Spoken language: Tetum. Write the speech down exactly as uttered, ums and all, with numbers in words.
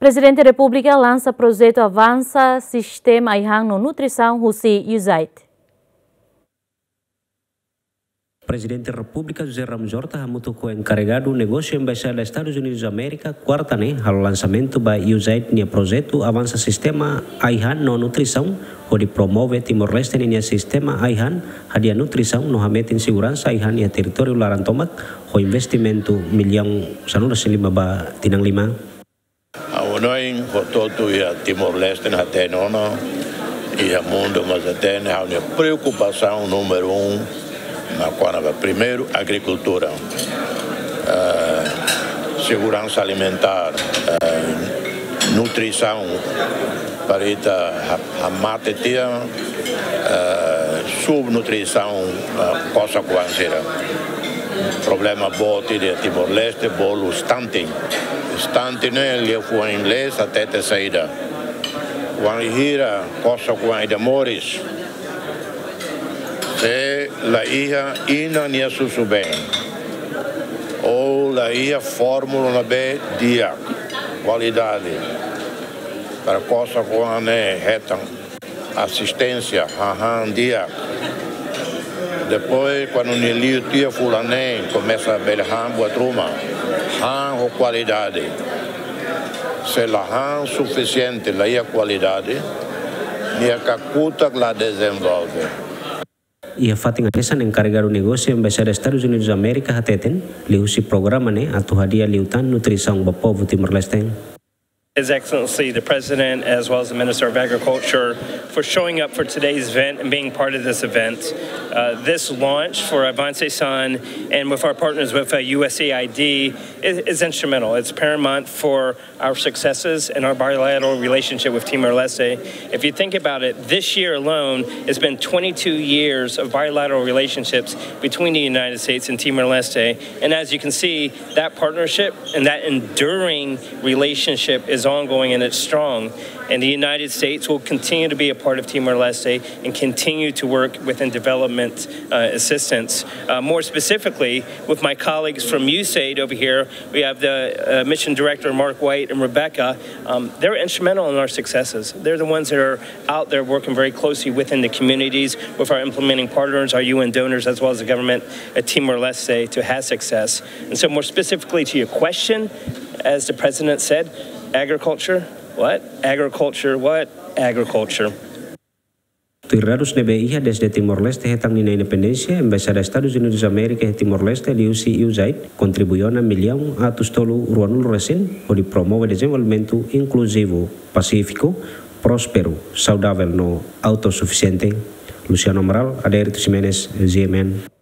Prezidente Repúblika lansa projetu avansa sistema ai-han no nutrisaun husi USAID. Prezidente Repúblika José Ramos Horta hamutuk ho enkarregadu negósiu Embaixada Estadus Unidus Amérika, kuarta ne'e, halo lansamentu ba USAID nia projetu avansa sistema ai-han no nutrisaun, hodi promove Timor-Leste ninia sistema ai-han, hadi'a nutrisaun no hametin seguransa ai-han iha territóriu laran tomak, ho investimentu millaun sanulu-resin-lima ba tinan lima. Ha'u hanoin hotu-hotu iha Timor-Leste ne'e hatene ona, iha mundu mós hatene, ha'u-nia preokupasaun númeru um, mak kona-ba primeiru agrikultura, eh, seguransa alimentár, eh, nutrisaun, para ita ha-, hamate tiha, eh, subnutrisaun, eh, kosar-oan sira. Problema boot ida iha Timor-Leste, bolu stunting. Stunting ne'e liafuan inglés hatete saida? Wainhira kosar-oan ida moris, se la iha inan nia susubeen, ou la iha fórmula ne'ebé di'ak, kualidade, para kosar-oan ne'e hetan asisténsia, hahán di'ak. Depois, kuandu nia liu tiha fulan neen, komesa bele han buat ruma, han ho kualidade. Se la han sufisiente, la iha kualidade, nia kakutak la dezenvolve. Iha fatin hanesan, enkarregadu negósiu Embaixada Estadus Unidus Amérika hateten, liuhusi programa ne'e atu hadi'a liután nutrisaun ba povu Timor-Leste. His Excellency, the President, as well as the Minister of Agriculture, for showing up for today's event and being part of this event. Uh, this launch for Avansa Ai-han and with our partners with, uh, USAID is, is instrumental. It's paramount for our successes and our bilateral relationship with Timor-Leste. If you think about it, this year alone, it's been twenty-two years of bilateral relationships between the United States and Timor-Leste. And as you can see, that partnership and that enduring relationship is ongoing and it's strong. And the United States will continue to be a part of Timor-Leste and continue to work within development, uh, assistance. Uh, more specifically, with my colleagues from USAID over here, we have the, uh, mission director, Mark White, and Rebecca. Um, they're instrumental in our successes. They're the ones that are out there working very closely within the communities with our implementing partners, our U N donors, as well as the government at Timor-Leste to have success. And so, more specifically to your question, as the president said, agriculture, what? Agriculture, what? Agriculture. Tuir dadus ne'ebé iha, dezde Timor-Leste hetan ninia independénsia, Embaixada Estadus Unidus Amérika iha Timor-Leste liuhusi USAID kontribui ona millaun atus tolu ruanulu-resin, hodi promove dezenvolvimentu inkluzivu, pasífiku, prósperu, saudavel no autosufisiente. Luciano Amaral, Adérito Ximenes, G M N.